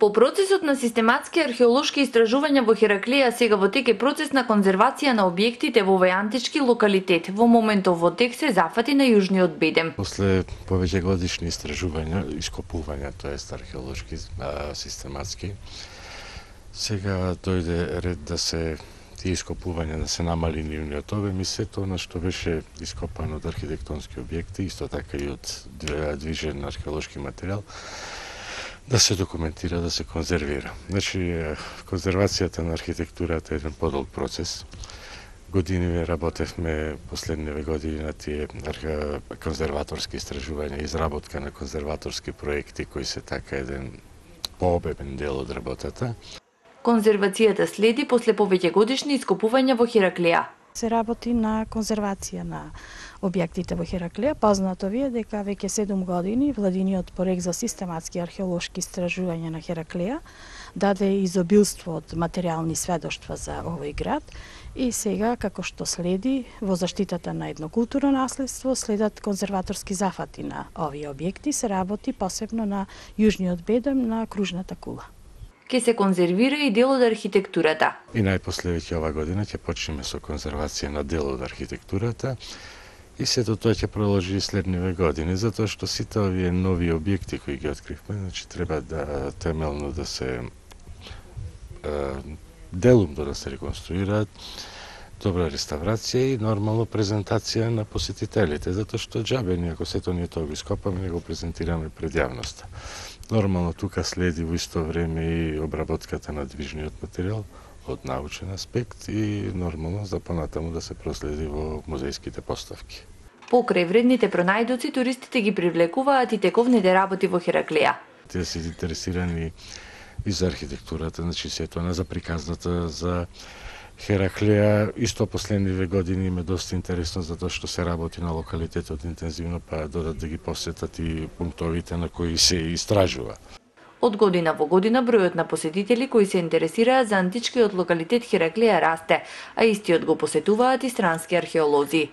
По процесот на систематски археолошки истражувања во Хераклија сега во тек е процес на конзервација на објектите во овој антички локалитет. Во моментов во тек се зафати на јужниот бедем. После повеќе годишни истражувања, ископувања, тоест археолошки, систематски, сега дојде ред да се тие ископувања да се намали нивниот обем и сето она што беше ископано од архитектонски објекти, исто така и од движен археолошки материјал, да се документира, да се конзервира. Значи, конзервацијата на архитектурата е еден подолг процес. Години работевме последниве години на тие конзерваторски истражувања, изработка на конзерваторски проекти кои се така еден пообемен дел од работата. Конзервацијата следи после повеќе годишни ископувања во Хераклија. Се работи на конзервација на објектите во Хераклија. Познато ви е дека веќе 7 години владиниот проект за систематски археолошки истражувања на Хераклија даде изобилство од материјални сведоштва за овој град и сега, како што следи, во заштитата на едно културно наследство следат конзерваторски зафати на овие објекти, се работи посебно на јужниот бедем на кружната кула. Ке се конзервира и дел од архитектурата. И најпосле веќе ова година ќе почнеме со конзервација на дел од архитектурата и сето тоа ќе продолжи и следниве години, затоа што сите овие нови објекти кои ги откривме, значи треба да темелно да се делумно да се реконструираат, добра реставрација и нормално презентација на посетителите, затоа што џабе ние ако сето ние тоа го ископаме, не го презентираме пред јавноста. Нормално тука следи во исто време и обработката на движниот материјал од научен аспект и нормално за понатаму да се проследи во музејските поставки. Покрај вредните пронајдоци, туристите ги привлекуваат и тековните работи во Хераклија. Тие се интересирани и за архитектурата, значи сето за приказната за Хераклија. Исто последниве години им е доста интересно затоа што се работи на локалитетот интензивно, па додат да ги посетат и пунктовите на кои се истражува. Од година во година бројот на посетители кои се интересираат за античкиот локалитет Хераклија расте, а истиот го посетуваат и странски археолози.